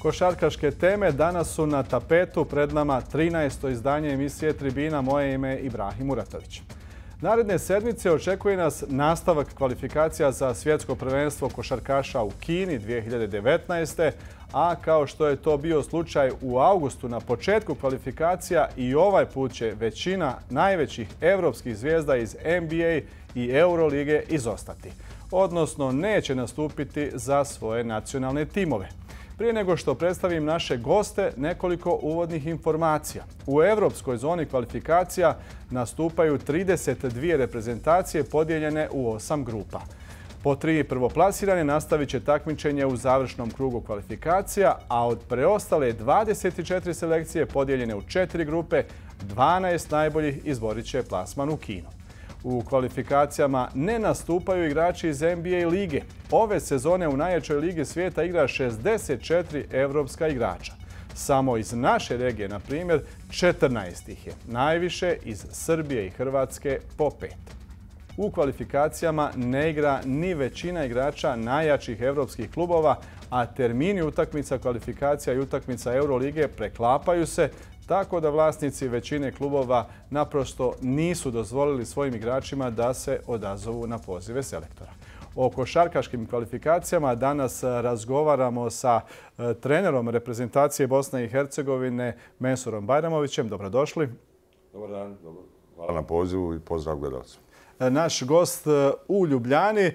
Košarkaške teme danas su na tapetu, pred nama 13. izdanje emisije Tribina. Moje ime je Ibrahim Muratović. Naredne sedmice očekuje nas nastavak kvalifikacija za svjetsko prvenstvo košarkaša u Kini 2019. A kao što je to bio slučaj u avgustu na početku kvalifikacija, i ovaj put će većina najvećih evropskih zvijezda iz NBA i Eurolige izostati, odnosno neće nastupiti za svoje nacionalne timove. Prije nego što predstavim naše goste, nekoliko uvodnih informacija. U evropskoj zoni kvalifikacija nastupaju 32 reprezentacije podijeljene u 8 grupa. Po 3 prvoplasirane nastavit će takmičenje u završnom krugu kvalifikacija, a od preostale 24 selekcije podijeljene u 4 grupe, 12 najboljih izborit će plasman u Kinu. U kvalifikacijama ne nastupaju igrači iz NBA lige. Ove sezone u najjačoj ligi svijeta igra 64 evropska igrača. Samo iz naše regije, na primjer, 14 ih je. Najviše iz Srbije i Hrvatske po 5. U kvalifikacijama ne igra ni većina igrača najjačih evropskih klubova, a termini utakmica kvalifikacija i utakmica Eurolige preklapaju se, tako da vlasnici većine klubova naprosto nisu dozvolili svojim igračima da se odazovu na pozive selektora. O košarkaškim kvalifikacijama danas razgovaramo sa trenerom reprezentacije Bosne i Hercegovine Mensurom Bajramovićem. Dobrodošli. Dobar dan, hvala na pozivu i pozdrav gledalcima. Naš gost u Ljubljani,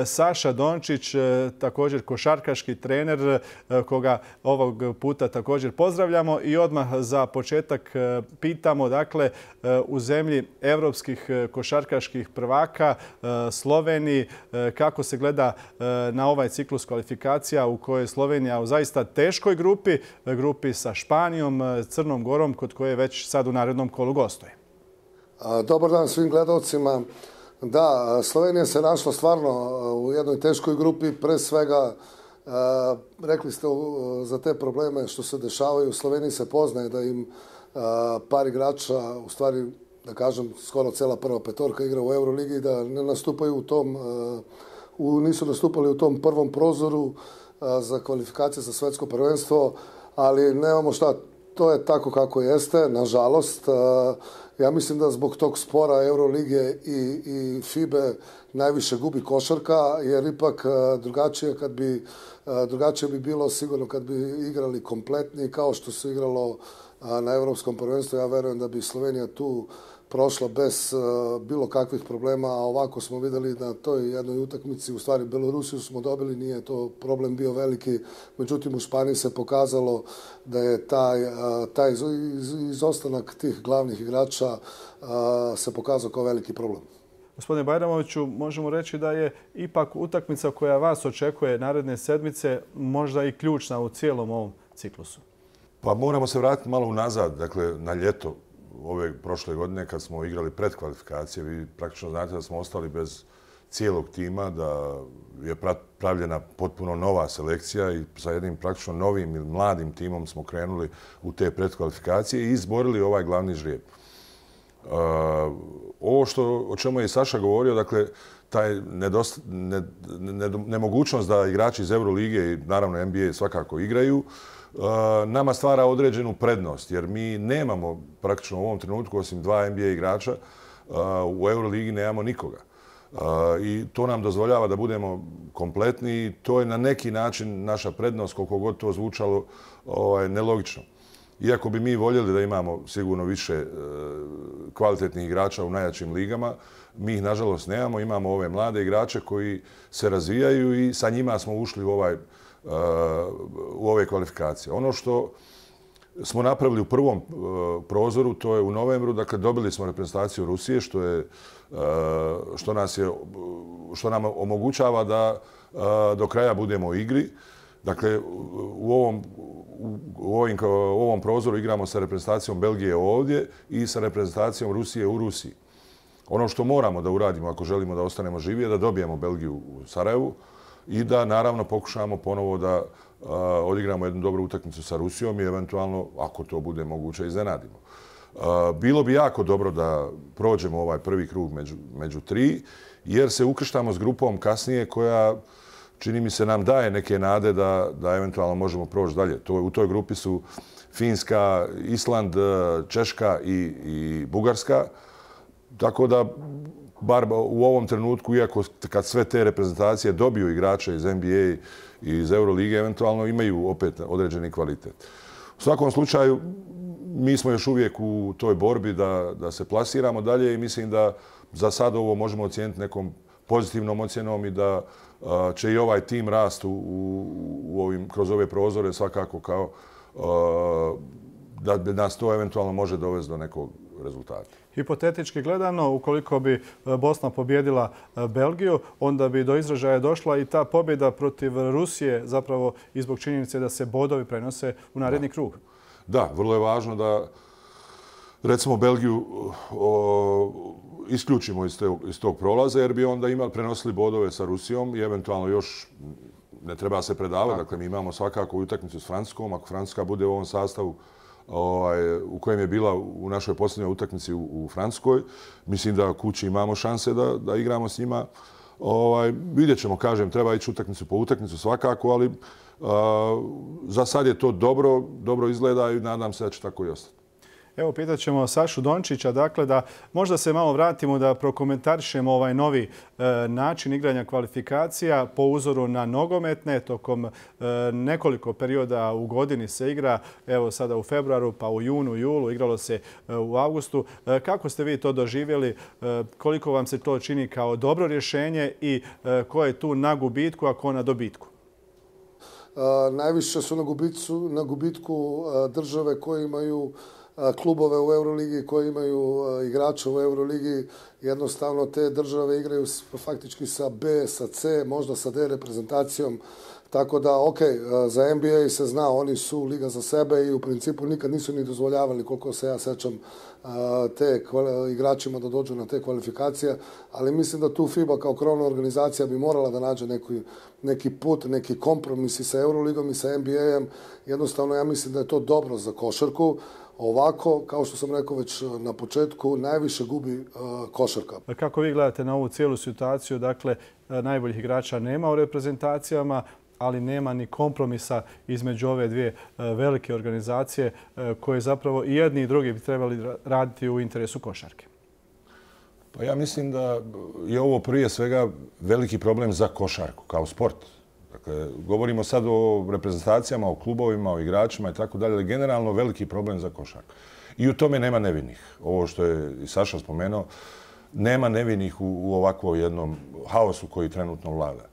Saša Dončić, također košarkaški trener, koga ovog puta također pozdravljamo. I odmah za početak pitamo, dakle, u zemlji evropskih košarkaških prvaka, Sloveniji, kako se gleda na ovaj ciklus kvalifikacija u kojoj je Slovenija u zaista teškoj grupi sa Španijom, Crnom Gorom, kod koje već sad u narednom kolu gostuje. Dobar dan svim gledalcima. Da, Slovenija se našla stvarno u jednoj teškoj grupi. Pre svega, rekli ste za te probleme što se dešavaju. U Sloveniji se poznaje da im par igrača, u stvari, da kažem, skoro cela prva petorka igra u Euroligi i da ne nastupaju u tom, nisu nastupali u tom prvom prozoru za kvalifikacije za svetsko prvenstvo, ali nemamo šta. To je tako kako jeste, nažalost. Ja mislim da zbog tog spora Eurolige i FIBE najviše gubi košarka, jer ipak drugačije bi bilo sigurno kad bi igrali kompletni, kao što se igralo na Evropskom prvenstvu. Ja verujem da bi Slovenija tu prošla bez bilo kakvih problema, a ovako smo videli na toj jednoj utakmici, u stvari Belorusiju smo dobili, nije to problem bio veliki, međutim u Španiji se pokazalo da je taj izostanak tih glavnih igrača se pokazao kao veliki problem. Gospodine Bajramoviću, možemo reći da je ipak utakmica koja vas očekuje naredne sedmice možda i ključna u cijelom ovom ciklusu. Pa moramo se vratiti malo unazad, dakle na ljeto ove prošle godine kad smo igrali predkvalifikacije. Vi praktično znate da smo ostali bez cijelog tima, da je pravljena potpuno nova selekcija i sa jednim praktično novim ili mladim timom smo krenuli u te predkvalifikacije i izborili ovaj glavni žrijeb. Ovo o čemu je i Saša govorio, dakle, taj nemogućnost da igrači iz Eurolige i naravno NBA svakako igraju, nama stvara određenu prednost, jer mi nemamo praktično u ovom trenutku, osim 2 NBA igrača, u Euroligi nemamo nikoga. I to nam dozvoljava da budemo kompletni i to je na neki način naša prednost, koliko god to zvučalo nelogično. Iako bi mi voljeli da imamo sigurno više kvalitetnih igrača u najjačim ligama, mi ih nažalost nemamo. Imamo ove mlade igrače koji se razvijaju i sa njima smo ušli u ove kvalifikacije. Ono što smo napravili u prvom prozoru, to je u novembru, dakle dobili smo reprezentaciju Rusije, što nam omogućava da do kraja budemo u igri. Dakle, u ovom prozoru igramo sa reprezentacijom Belgije ovdje i sa reprezentacijom Rusije u Rusiji. Ono što moramo da uradimo ako želimo da ostanemo živi je da dobijemo Belgiju u Sarajevu i da naravno pokušamo ponovo da odigramo jednu dobru utakmicu sa Rusijom i eventualno, ako to bude moguće, iznenadimo. Bilo bi jako dobro da prođemo ovaj prvi krug među 3, jer se ukrštamo s grupom kasnije koja čini mi se nam daje neke nade da eventualno možemo proći dalje. U toj grupi su Finska, Island, Češka i Bugarska. Tako da, bar u ovom trenutku, iako kad sve te reprezentacije dobiju igrače iz NBA i iz Eurolige, eventualno imaju opet određeni kvalitet. U svakom slučaju, mi smo još uvijek u toj borbi da se plasiramo dalje i mislim da za sad ovo možemo ocijeniti nekom pozitivnom ocjenom i da će i ovaj tim rast kroz ove prozore svakako kao da nas to eventualno može dovesti do nekog rezultata. Hipotetički gledano, ukoliko bi Bosna pobjedila Belgiju, onda bi do izražaja došla i ta pobjeda protiv Rusije zapravo i zbog činjenice da se bodovi prenose u naredni krug. Da, vrlo je važno da recimo Belgiju isključimo iz tog prolaza jer bi onda prenosili bodove sa Rusijom i eventualno još ne treba se predavati. Dakle, mi imamo svakako utakmicu s Francuskom. Ako Francuska bude u ovom sastavu u kojem je bila u našoj posljednjoj utakmici u Francuskoj, mislim da kući imamo šanse da igramo s njima. Vidjet ćemo, kažem, treba ići utakmicu po utakmicu svakako, ali za sad je to dobro izgleda i nadam se da će tako i ostati. Evo, pitat ćemo Sašu Dončića, dakle, da možda se malo vratimo da prokomentarišemo ovaj novi način igranja kvalifikacija po uzoru na nogometne. Tokom nekoliko perioda u godini se igra, evo sada u februaru, pa u junu, julu, igralo se u avgustu. Kako ste vi to doživjeli? Koliko vam se to čini kao dobro rješenje i ko je tu na gubitku, a ko na dobitku? Najviše su na gubitku države koje imaju klubove u Euroligi, koji imaju igrače u Euroligi. Jednostavno te države igraju faktički sa B, sa C, možda sa D reprezentacijom. Tako da, za NBA se zna, oni su liga za sebe i u principu nikad nisu ni dozvoljavali, koliko se ja sećam, te igračima da dođu na te kvalifikacije. Ali mislim da tu FIBA kao krovna organizacija bi morala da nađe neki put, neki kompromis i sa Euroligom i sa NBA-em. Jednostavno, ja mislim da je to dobro za košarku. Ovako, kao što sam rekao već na početku, najviše gubi košarka. Kako vi gledate na ovu cijelu situaciju? Dakle, najboljih igrača nema u reprezentacijama, ali nema ni kompromisa između ove dvije velike organizacije koje zapravo i jedni i drugi bi trebali raditi u interesu košarke. Pa ja mislim da je ovo prije svega veliki problem za košarku kao sport. Dakle, govorimo sad o reprezentacijama, o klubovima, o igračima i tako dalje, ali generalno veliki problem za košarku. I u tome nema nevinih. Ovo što je i Saša spomenuo, nema nevinih u ovakvom jednom haosu koji trenutno vlada.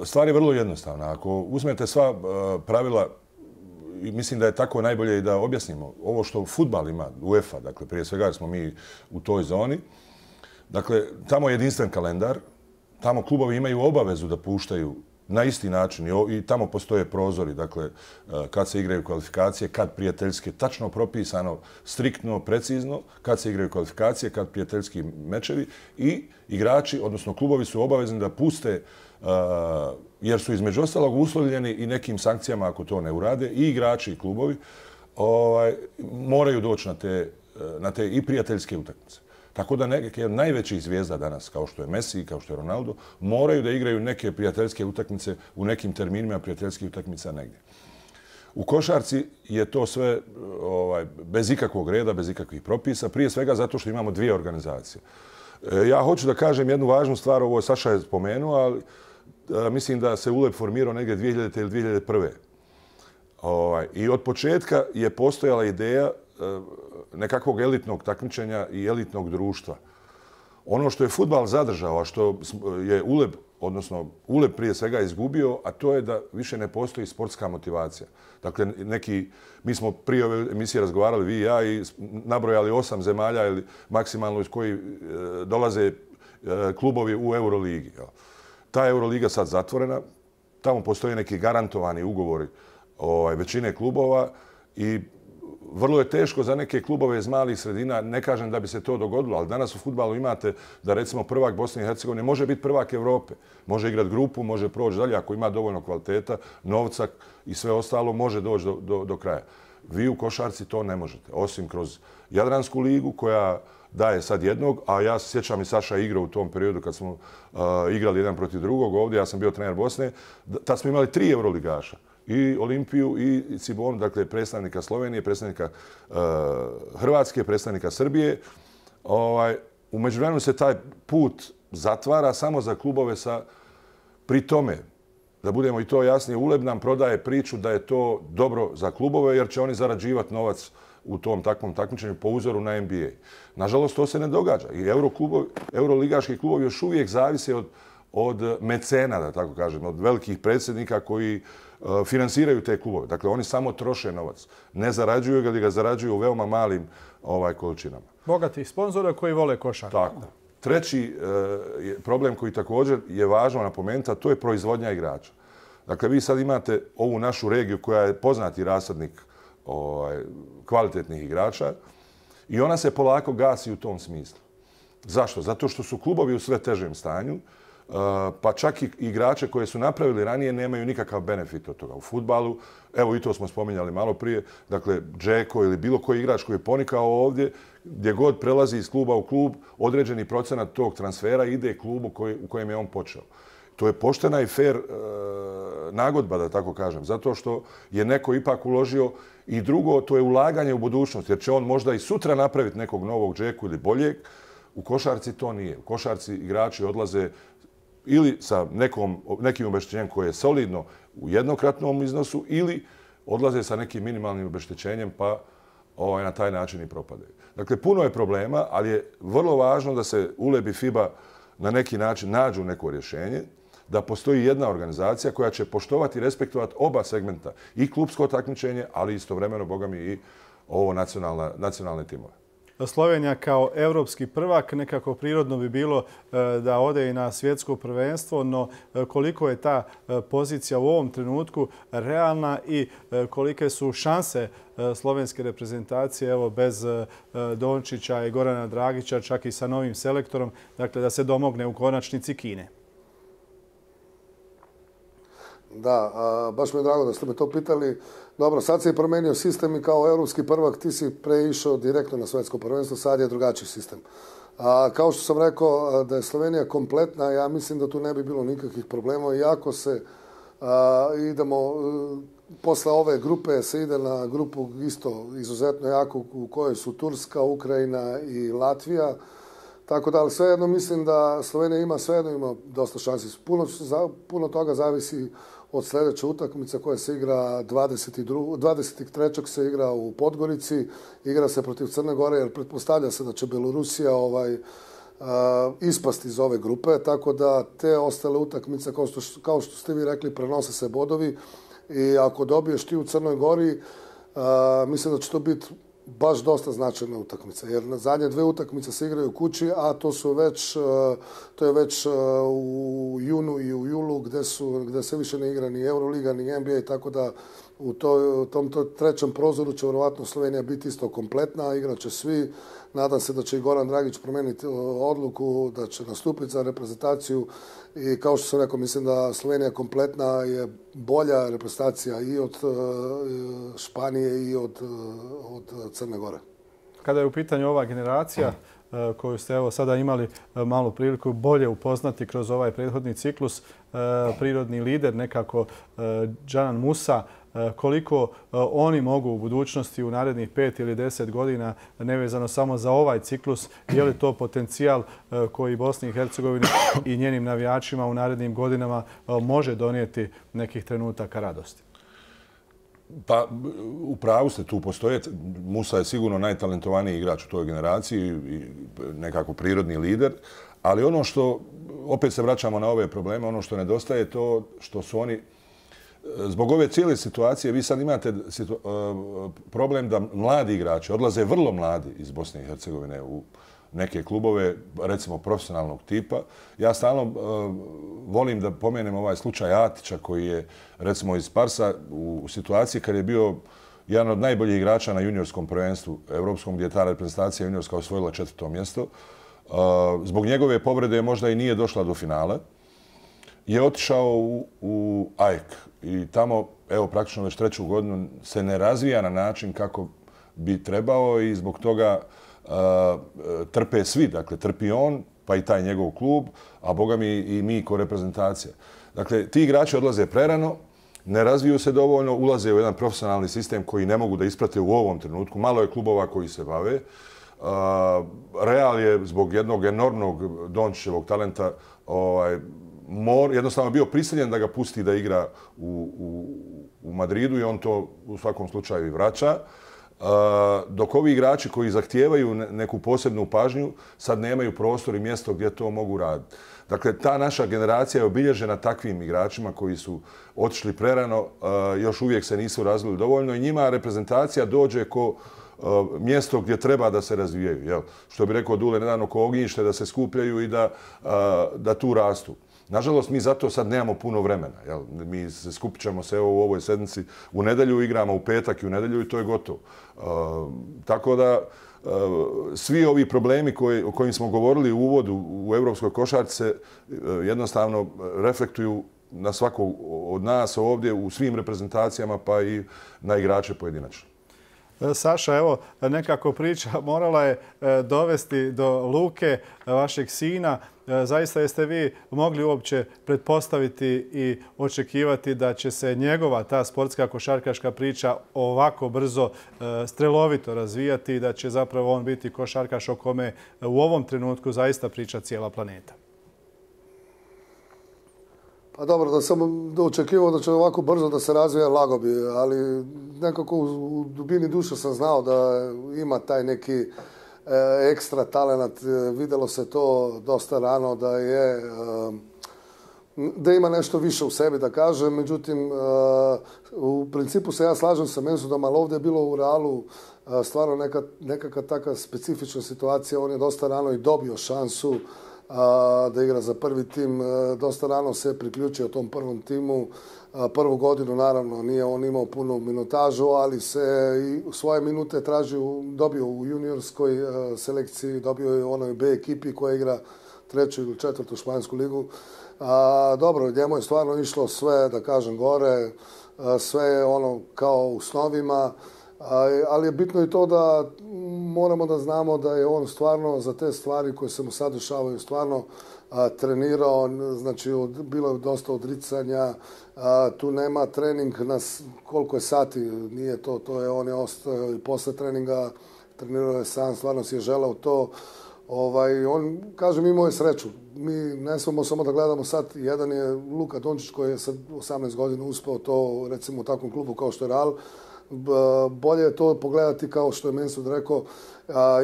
Stvar je vrlo jednostavna. Ako uzmete sva pravila, mislim da je tako najbolje i da objasnimo ovo što fudbal ima, UEFA, dakle prije svega smo mi u toj zoni, dakle tamo je jedinstven kalendar, tamo klubovi imaju obavezu da puštaju na isti način i tamo postoje prozori, dakle kad se igraju kvalifikacije, kad prijateljske, tačno propisano, striktno, precizno, kad se igraju kvalifikacije, kad prijateljski mečevi i igrači, odnosno klubovi su obavezni da puste, jer su između ostalog uslovljeni i nekim sankcijama ako to ne urade, i igrači i klubovi moraju doći na te i prijateljske utakmice. Tako da neke od najvećih zvijezda danas, kao što je Messi, kao što je Ronaldo, moraju da igraju neke prijateljske utakmice u nekim terminima prijateljskih utakmica negdje. U košarci je to sve bez ikakvog reda, bez ikakvih propisa, prije svega zato što imamo dvije organizacije. Ja hoću da kažem jednu važnu stvar, ovo je Saša je spomenuo, ali mislim da se ULEB formirao negdje 2000. ili 2001. I od početka je postojala ideja nekakvog elitnog takmičenja i elitnog društva. Ono što je fudbal zadržao, a što je ULEB, odnosno ULEB prije svega izgubio, a to je da više ne postoji sportska motivacija. Dakle, mi smo prije ove emisije razgovarali, vi i ja, i nabrojali 8 zemalja ili maksimalno iz koji dolaze klubovi u Euroligi. Ta Euroliga sad zatvorena, tamo postoje neki garantovani ugovori većine klubova i vrlo je teško za neke klubove iz malih sredina, ne kažem da bi se to dogodilo, ali danas u fudbalu imate da recimo prvak Bosne i Hercegovine može biti prvak Evrope. Može igrati grupu, može proći dalje ako ima dovoljno kvaliteta, novca i sve ostalo, može doći do kraja. Vi u košarci to ne možete, osim kroz Jadransku ligu koja daje sad jednog, a ja se sjećam i Saša igrao u tom periodu kad smo igrali jedan protiv drugog ovdje, ja sam bio trener Bosne, tad smo imali 3 euroligaša. I Olimpiju i Cibonu, dakle predstavnika Slovenije, predstavnika Hrvatske, predstavnika Srbije. U međuvremenu se taj put zatvara samo za klubove sa... Pri tome, da budemo i to jasnije, Uleb nam prodaje priču da je to dobro za klubove jer će oni zarađivati novac u tom takvom takmičenju po uzoru na NBA. Nažalost, to se ne događa. I euroligaški klubovi još uvijek zavise od mecena, da tako kažem, od velikih predsjednika koji finansiraju te klubove. Dakle, oni samo troše novac. Ne zarađuju ga, ali ga zarađuju u veoma malim količinama. Bogati sponzora koji vole košarku. Tako. Treći problem koji također je važno napomenuti, a to je proizvodnja igrača. Dakle, vi sad imate ovu našu regiju koja je poznati rasadnik kvalitetnih igrača i ona se polako gasi u tom smislu. Zašto? Zato što su klubovi u sve težem stanju, pa čak i igrače koje su napravili ranije nemaju nikakav benefit od toga. U fudbalu, evo i to smo spominjali malo prije, dakle, Džeko ili bilo koji igrač koji je ponikao ovdje, gdje god prelazi iz kluba u klub, određeni procenat tog transfera ide klubu u kojem je on počeo. To je poštena i fair nagodba, da tako kažem, zato što je neko ipak uložio i drugo, to je ulaganje u budućnost, jer će on možda i sutra napraviti nekog novog Džeku ili boljeg. U košarci to nije. U košarci igrači odlaze ili sa nekim obeštećenjem koje je solidno u jednokratnom iznosu ili odlaze sa nekim minimalnim obeštećenjem pa na taj način i propadaju. Dakle, puno je problema, ali je vrlo važno da se Uleb i FIBA na neki način nađu neko rješenje, da postoji jedna organizacija koja će poštovati i respektovati oba segmenta, i klubsko takmičenje, ali istovremeno, boga mi, i ovo nacionalne timove. Slovenija kao evropski prvak, nekako prirodno bi bilo da ode i na svjetsko prvenstvo, no koliko je ta pozicija u ovom trenutku realna i kolike su šanse slovenske reprezentacije, evo bez Dončića i Gorana Dragića, čak i sa novim selektorom, dakle da se domogne u konačnici Kine? Da, baš mi je drago da ste me to pitali. Dobro, sad se je promenio sistem i kao evropski prvak ti si preišao direktno na svjetsko prvenstvo, sad je drugačiji sistem. Kao što sam rekao da je Slovenija kompletna, ja mislim da tu ne bi bilo nikakvih problema. Iako se idemo, posle ove grupe se ide na grupu isto izuzetno jako u kojoj su Turska, Ukrajina i Latvija. Tako da, ali svejedno mislim da Slovenija svejedno ima dosta šansi. Puno toga zavisi od sljedeće utakmice koja se igra 23. se igra u Podgorici, igra se protiv Crne Gore, jer pretpostavlja se da će Belorusija ispasti iz ove grupe, tako da te ostale utakmice, kao što ste vi rekli, prenose se bodovi i ako dobiješ ti u Crnoj Gori, mislim da će to biti baš dosta značajna utakmica, jer na zadnje 2 utakmice se igraju u kući, a to je već u junu i u julu gdje se više ne igra ni Euroliga ni NBA, tako da u tom trećem prozoru će vjerovatno Slovenija biti isto kompletna, igraće svi. Nadam se da će i Goran Dragić promijeniti odluku, da će nastupiti za reprezentaciju i kao što sam rekao, mislim da Slovenija kompletna je bolja reprezentacija i od Španije i od Crne Gore. Kada je u pitanju ova generacija koju ste evo sada imali malu priliku bolje upoznati kroz ovaj prethodni ciklus, prirodni lider nekako Džanan Musa, koliko oni mogu u budućnosti u narednih 5 ili 10 godina, nevezano samo za ovaj ciklus, je li to potencijal koji Bosni i Hercegovini i njenim navijačima u narednim godinama može donijeti nekih trenutaka radosti? Pa, u pravu ste, tu postoje. Musa je sigurno najtalentovaniji igrač u toj generaciji i nekako prirodni lider, ali ono što, opet se vraćamo na ove probleme, ono što nedostaje je to što su oni, zbog ove cijele situacije, vi sad imate problem da mladi igrači odlaze vrlo mladi iz Bosne i Hercegovine u neke klubove, recimo profesionalnog tipa. Ja stalno volim da pomenem ovaj slučaj Atića koji je, recimo, iz Sparsa u situaciji kad je bio jedan od najboljih igrača na juniorskom prvenstvu evropskom, gdje je ta reprezentacija juniorska osvojila 4. mjesto. Zbog njegove povrede možda i nije došla do finala. je otišao u AEK i tamo, evo praktično već 3. godinu, se ne razvija na način kako bi trebao i zbog toga trpe svi. Dakle, trpi on, pa i taj njegov klub, a boga mi i mi ko reprezentacija. Dakle, ti igrači odlaze prerano, ne razviju se dovoljno, ulaze u jedan profesionalni sistem koji ne mogu da isprate u ovom trenutku. Malo je klubova koji se bave. Real je zbog jednog enormnog Dončićevog talenta jednostavno bio prisiljen da ga pusti da igra u Madridu i on to u svakom slučaju i vraća. Dok ovi igrači koji zahtijevaju neku posebnu pažnju sad nemaju prostor i mjesto gdje to mogu raditi. Dakle, ta naša generacija je obilježena takvim igračima koji su otišli prerano, još uvijek se nisu razvili dovoljno i njima reprezentacija dođe ko mjesto gdje treba da se razvijaju. Jel? Što bi rekao Dule nedavno, ko ognjište da se skupljaju i da tu rastu. Nažalost, mi zato sad nemamo puno vremena. Jel? Mi se skupit ćemo se u ovoj sedmici u nedjelju, igramo u petak i u nedjelju i to je gotovo. Tako da svi ovi problemi o kojim smo govorili u uvodu u evropskoj košarci se jednostavno reflektuju na svakog od nas ovdje u svim reprezentacijama pa i na igrače pojedinačno. Saša, evo, nekako priča morala je dovesti do Luke, vašeg sina. Zaista jeste vi mogli uopće pretpostaviti i očekivati da će se njegova ta sportska košarkaška priča ovako brzo, strelovito razvijati i da će zapravo on biti košarkaš o kome u ovom trenutku zaista priča cijela planeta? Pa dobro, da sam očekivao da će ovako brzo da se razvija, lago bi, ali nekako u dubini duše sam znao da ima taj neki ekstra talenat. Vidjelo se to dosta rano da ima nešto više u sebi, da kažem. Međutim, u principu se ja slažem sa Mensudom, ali ovdje je bilo u Realu stvarno nekakva takva specifična situacija. On je dosta rano i dobio šansu da igra za prvi tim. Dosta rano se priključio tom prvom timu. Prvu godinu, naravno, nije on imao punu minutažu, ali se i svoje minute dobio u juniorskoj selekciji, dobio je u onoj B ekipi koja igra 3. ili 4. špansku ligu. Dobro, njemu je stvarno išlo sve, da kažem, gore, sve je ono kao u snovima, ali je bitno i to da moramo da znamo da je on stvarno za te stvari koje se mu sad dešavaju stvarno trenirao, znači bilo je dosta odricanja, tu nema trening na koliko je sati, nije to je on je ostao i posle treninga, trenirao je sam, stvarno si je želao to. On, kažem, imao je sreću. Mi ne smemo samo da gledamo sad. Jedan je Luka Dončić koji je sad 18 godina uspeo to, recimo u takvom klubu kao što je Real. Bolje je to pogledati kao što je Mensud rekao.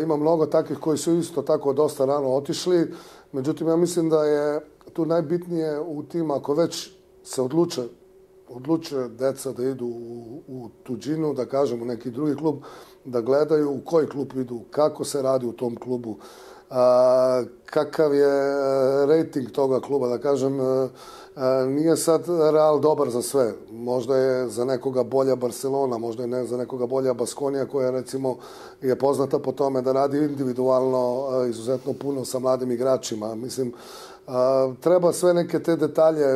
Ima mnogo takvih koji su isto tako dosta rano otišli. Međutim, ja mislim da je tu najbitnije u tim, ako već se odluče deca da idu u tuđinu, da kažem u neki drugi klub, da gledaju u koji klub idu, kako se radi u tom klubu, kakav je rating toga kluba, da kažem, nije sad Real dobar za sve. Možda je za nekoga bolja Barcelona, možda je za nekoga bolja Baskonija koja recimo je poznata po tome da radi individualno izuzetno puno sa mladim igračima. Mislim, treba sve neke te detalje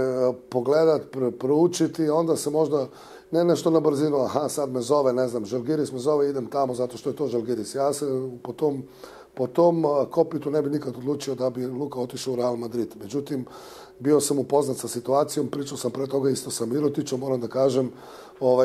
pogledati, proučiti, onda se možda ne nešto na brzinu, aha, sad me zove, ne znam, Žalgiris me zove, idem tamo zato što je to Žalgiris. Ja se po tom kopitu ne bi nikad odlučio da bi Luka otišao u Real Madrid. Međutim, bio sam upoznat sa situacijom, pričao sam pre toga isto sa Mirotićom, moram da kažem,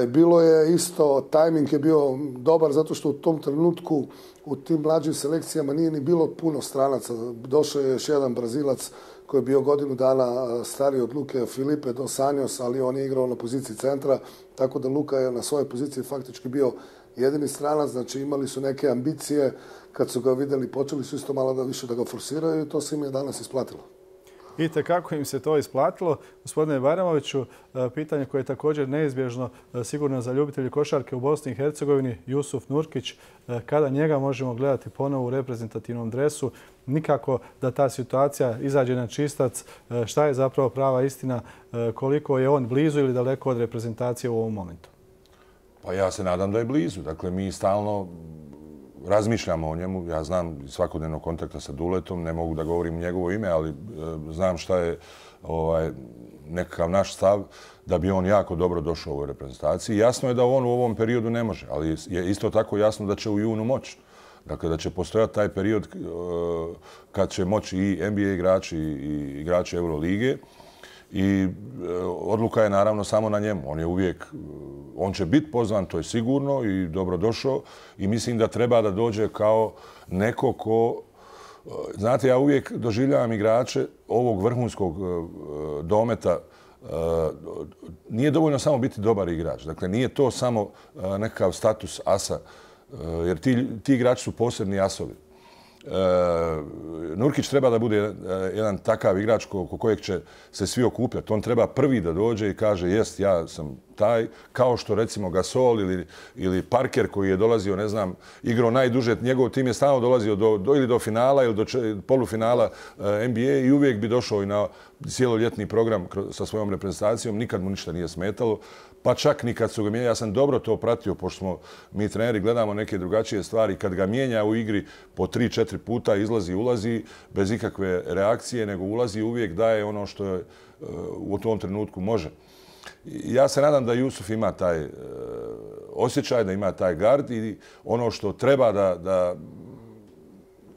bilo je isto, tajming je bio dobar zato što u tom trenutku u tim mlađim selekcijama nije ni bilo puno stranaca. Došao je još jedan Brazilac koji je bio godinu dana stariji od Luke, Filipe dos Anjos, ali on je igrao na poziciji centra, tako da Luka je na svojoj poziciji faktički bio jedini stranac, znači imali su neke ambicije, kad su ga vidjeli počeli su isto malo da više da ga forsiraju i to se im je danas isplatilo. Vidite kako im se to isplatilo. Gospodine Bajramoviću, pitanje koje je također neizbježno sigurno za ljubitelji košarke u Bosni i Hercegovini, Jusuf Nurkić, kada njega možemo gledati ponovo u reprezentativnom dresu, nikako da ta situacija izađe na čistac, šta je zapravo prava istina, koliko je on blizu ili daleko od reprezentacije u ovom momentu? Pa ja se nadam da je blizu. Dakle, mi stalno razmišljamo o njemu. Ja znam svakodnevnog kontakta sa Duletom, ne mogu da govorim njegovo ime, ali znam šta je nekakav naš stav da bi on jako dobro došao u ovoj reprezentaciji. Jasno je da on u ovom periodu ne može, ali je isto tako jasno da će u junu moći. Dakle, da će postojati taj period kad će moći i NBA igrači i igrači Eurolige. I odluka je naravno samo na njemu. On će biti pozvan, to je sigurno i dobrodošao. I mislim da treba da dođe kao neko ko... Znate, ja uvijek doživljavam igrače ovog vrhunskog dometa. Nije dovoljno samo biti dobar igrač. Dakle, nije to samo nekakav status asa. Jer ti igrači su posebni asovi. Nurkić treba da bude jedan takav igrač oko kojeg će se svi okupljati. On treba prvi da dođe i kaže jest, ja sam taj, kao što recimo Gasol ili Parker koji je dolazio, ne znam, igrao najduže, njegov tim je stalno dolazio ili do finala ili do polufinala NBA i uvijek bi došao i na cijeloljetni program sa svojom reprezentacijom, nikad mu ništa nije smetalo. Pa čak ni kad su ga mijenjali, ja sam dobro to pratio, pošto smo mi treneri gledamo neke drugačije stvari. Kad ga mijenja u igri po 3-4 puta, izlazi, ulazi, bez ikakve reakcije, nego ulazi uvijek daje ono što je u tom trenutku može. Ja se nadam da Jusuf ima taj osjećaj, da ima taj gard i ono što treba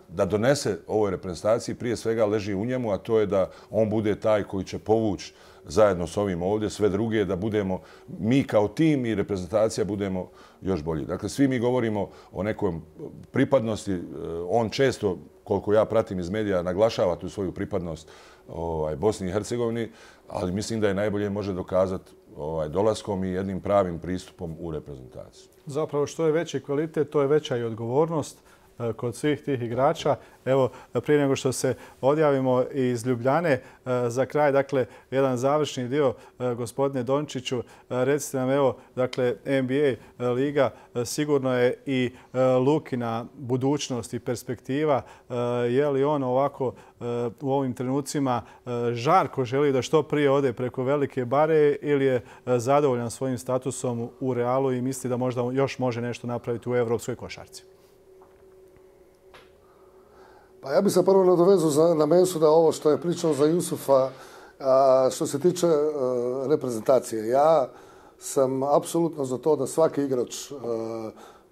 da donese ovoj reprezentaciji prije svega leži u njemu, a to je da on bude taj koji će povući zajedno s ovim ovdje, sve druge, da budemo mi kao tim i reprezentacija budemo još bolji. Dakle, svi mi govorimo o nekom pripadnosti. On često, koliko ja pratim iz medija, naglašava tu svoju pripadnost Bosni i Hercegovini, ali mislim da je najbolje može dokazati dolaskom i jednim pravim pristupom u reprezentaciju. Zapravo što je veći kvalitet, to je veća i odgovornost kod svih tih igrača. Evo, prije nego što se odjavimo iz Ljubljane, za kraj, dakle, jedan završni dio, gospodine Dončiću, recite nam, evo, dakle, NBA liga sigurno je i Lukina budućnost i perspektiva. Je li on ovako u ovim trenucima žarko želi da što prije ode preko velike bare ili je zadovoljan svojim statusom u Realu i misli da možda još može nešto napraviti u evropskoj košarci? Pa ja bih se prvo nadovezao na Mensuda ovo što je pričao za Jusufa što se tiče reprezentacije. Ja sam apsolutno za to da svaki igrač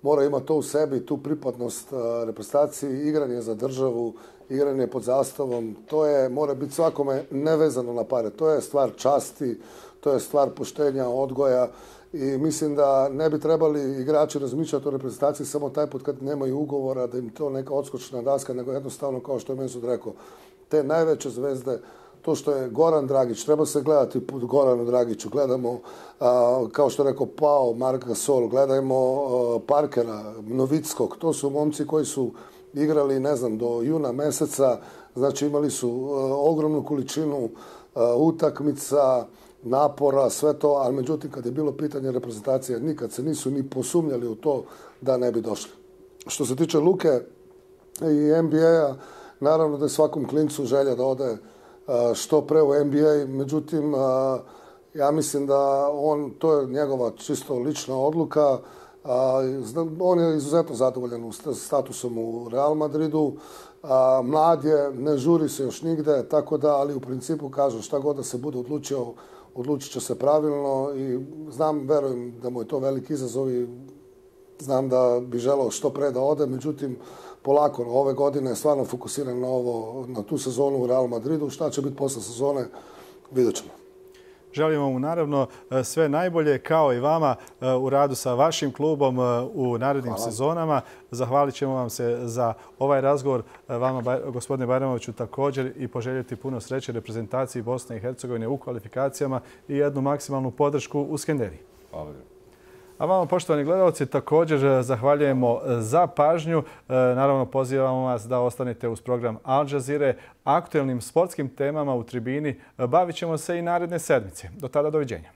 mora imati to u sebi, tu pripadnost reprezentaciji, igranje za državu, igranje pod zastavom. To mora biti svakome nevezano na pare. To je stvar časti, to je stvar poštenja, odgoja. I mislim da ne bi trebali igrači razmišljati o reprezentaciji samo taj put kad nemaju ugovora, da im to neka odskočna daska, nego jednostavno, kao što je Mensud rekao, te najveće zvezde, to što je Goran Dragić, treba se gledati put Goranu Dragiću, gledamo, kao što je rekao Pao, Mark Gasol, gledajmo Parkera, Novickog, to su momci koji su igrali, ne znam, do juna meseca, znači imali su ogromnu količinu utakmica, napora, sve to, ali međutim kad je bilo pitanje reprezentacije, nikad se nisu ni posumnjali u to da ne bi došli. Što se tiče Luke i NBA-a, naravno da je svakom klincu želja da ode što pre u NBA, međutim ja mislim da to je njegova čisto lična odluka. On je izuzetno zadovoljan statusom u Real Madridu. Mlad je, ne žuri se još nigde, tako da, ali u principu kažem šta god da se bude odlučio, odlučit će se pravilno i verujem da mu je to veliki izazov i znam da bi želeo što pre da ode, međutim, polako, ove godine je stvarno fokusiran na tu sezonu u Real Madridu. Šta će biti posle sezone, vidjet ćemo. Želimo mu naravno sve najbolje, kao i vama u radu sa vašim klubom u narednim sezonama. Zahvalit ćemo vam se za ovaj razgovor. Vama, gospodine Bajramoviću, također i poželjeti puno sreće reprezentaciji Bosne i Hercegovine u kvalifikacijama i jednu maksimalnu podršku u Skenderiji. Hvala. A vama, poštovani gledalci, također zahvaljujemo za pažnju. Naravno, pozivamo vas da ostanete uz program Al Jazeera. Aktuelnim sportskim temama u tribini bavit ćemo se i naredne sedmice. Do tada, doviđenja.